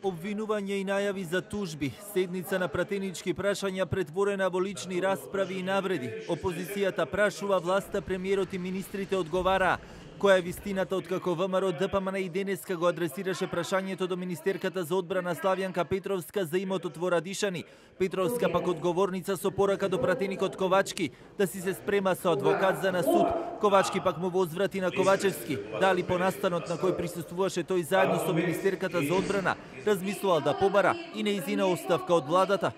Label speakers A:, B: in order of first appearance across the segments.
A: Обвинување и најави за тужби, седница на пратенички прашања претворена во лични расправи и навреди. Опозицијата прашува власта, премиерот и министрите одговараа. Која е вистината откако ВМРО ДПМН и денеска го адресираше прашањето до министерката за одбрана Славјанка Петровска за имотот во Радишани. Петровска пак одговорница со порака до пратеникот Ковачки да си се спрема со адвокат за на суд. Ковачки пак му возврати на Ковачевски. Дали по настанот на кој присуствуваше тој заедно со министерката за одбрана, размислувал да побара и неизина оставка од владата.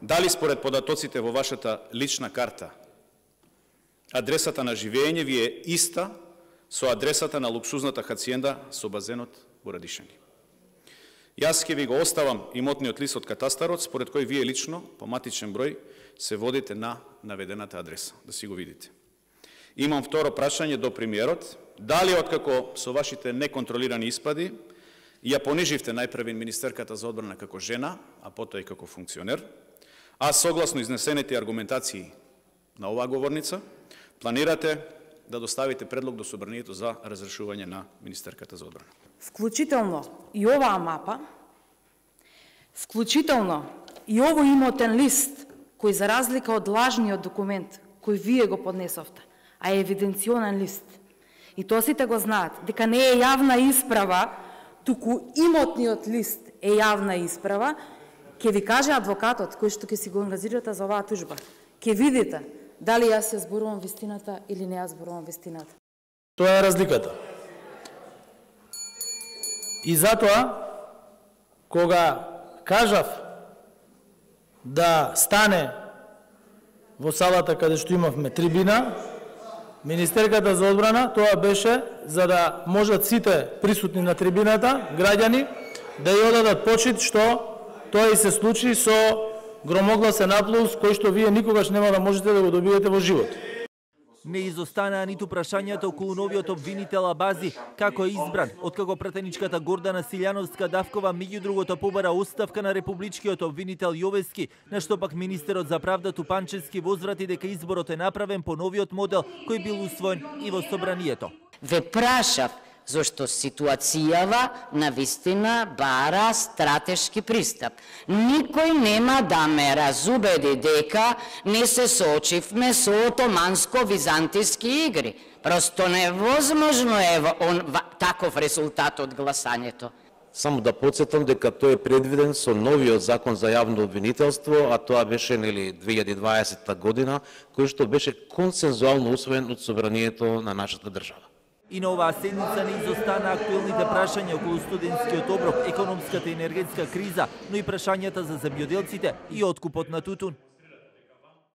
B: Дали според податоците во вашата лична карта адресата на живење ви е иста со адресата на луксузната хациенда со базенот во Радишани? Јас ќе ви го оставам имотниот лист од катастарот, според кој вие лично по матичен број се водите на наведената адреса, да си го видите. Имам второ прашање до премиерот. Дали откако со вашите неконтролирани испади ја пониживте најпрви министерката за одбрана како жена, а потоа и како функционер, а согласно изнесените аргументации на оваа говорница, планирате да доставите предлог до собранието за разрешување на министерката за одбрана?
C: Вклучително и оваа мапа, вклучително и овој имотен лист, кој за разлика од лажниот документ кој вие го поднесовте, а е евиденционен лист, и тоа сите го знаат, дека не е јавна исправа, туку имотниот лист е јавна исправа, ќе ви каже адвокатот кој што ќе си го ангажирате за оваа тужба. Ќе видите дали јас ја зборувам вистината или не ја зборувам вистината.
D: Тоа е разликата. И затоа, кога кажав да стане во салата каде што имавме трибина, министерката за одбрана, тоа беше за да можат сите присутни на трибината, граѓани, да ја одадат почит што тоа и се случи со громогласен аплауз кој што вие никогаш нема да можете да го добиете во живот.
A: Не изостанаа ниту прашањата околу новиот обвинител Абази, како е избран, откако пратеничката Гордана Силјановска-Давкова меѓу другото побара оставка на републичкиот обвинител Јовески, на што пак министерот за правда Тупанчевски возврати дека изборот е направен по новиот модел кој бил усвоен и во собранието.
E: Ве прашав зашто ситуацијава навистина бара стратешки пристап. Никој нема да ме разубеди дека не се соочивме со отоманско-византиски игри. Просто невозможно е таков резултат од гласањето.
F: Само да подсетам дека тој е предвиден со новиот закон за јавно обвинителство, а тоа беше 2020 година, кој што беше консензуално усвоен од собранието на нашата држава.
A: И на оваа седница не изостана актуелните прашања околу студентскиот оброк, економската и енергетска криза, но и прашањата за земјоделците и откупот на тутун.